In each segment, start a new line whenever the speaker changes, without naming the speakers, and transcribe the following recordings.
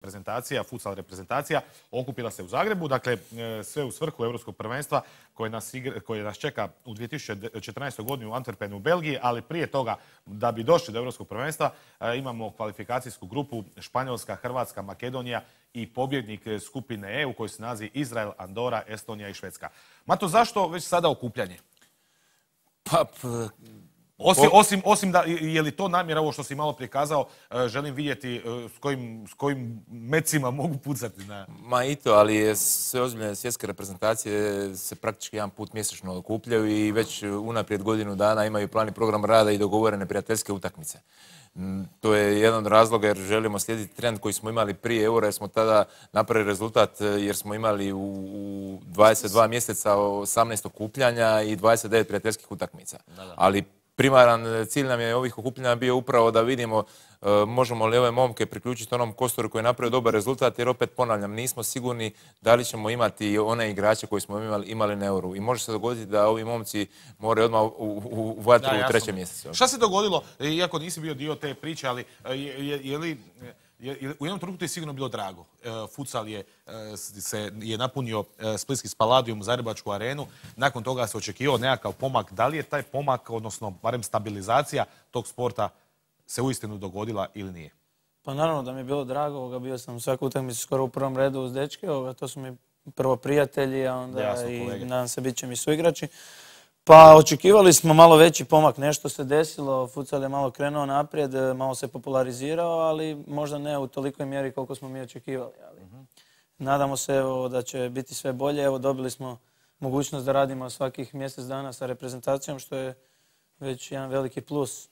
reprezentacija, futsal reprezentacija, okupila se u Zagrebu. Dakle, sve u svrhu Europskog prvenstva koje nas čeka u 2014. godini u Antwerpenu u Belgiji, ali prije toga, da bi došli do Europskog prvenstva, imamo kvalifikacijsku grupu Španjolska, Hrvatska, Makedonija i pobjednik skupine E u kojoj se nalazi Izrael, Andora, Estonija i Švedska. Mato, zašto već sada okupljanje? Osim da, je li to namjera, ovo što si malo prikazao, želim vidjeti s kojim mecima mogu pucati na...
Ma i to, ali sve ozbiljne svjetske reprezentacije se praktički jedan put mjesečno okupljaju i već unaprijed godinu dana imaju plan i program rada i dogovorene prijateljske utakmice. To je jedan od razloga jer želimo slijediti trend koji smo imali prije Eura, jer smo tada napravili rezultat jer smo imali u 22 mjeseca 18 okupljanja i 29 prijateljskih utakmica. Ali primaran cilj nam je ovih okupljanja bio upravo da vidimo možemo li ove momke priključiti onom Kostoru koji je napravio dobar rezultat, jer opet ponavljam, nismo sigurni da li ćemo imati one igrače koji smo imali na Euru. I može se dogoditi da ovi momci moraju odmah u vatru u 3. mjesecu.
Šta se dogodilo, iako nisi bio dio te priče, ali u jednom trenutku je sigurno bilo drago. Futsal je napunio splitski Spaladium, Zagrebačku arenu. Nakon toga se očekivao nekakav pomak. Da li je taj pomak, odnosno barem stabilizacija tog sporta, se uistinu dogodila ili nije?
Pa naravno da mi je bilo drago. Bio sam svaku utakmicu skoro u prvom redu uz dečke. To su mi prvo prijatelji, a onda i nadam se bit će mi suigrači. Pa očekivali smo malo veći pomak, nešto se desilo, futsal je malo krenuo naprijed, malo se popularizirao, ali možda ne u tolikoj mjeri koliko smo mi očekivali. Nadamo se da će biti sve bolje. Evo, dobili smo mogućnost da radimo svakih mjesec dana sa reprezentacijom, što je već jedan veliki plus.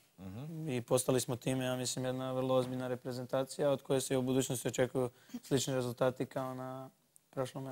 I postali smo time, ja mislim, jedna vrlo ozbiljna reprezentacija od koje se u budućnosti očekuju slični rezultati kao na prošlom.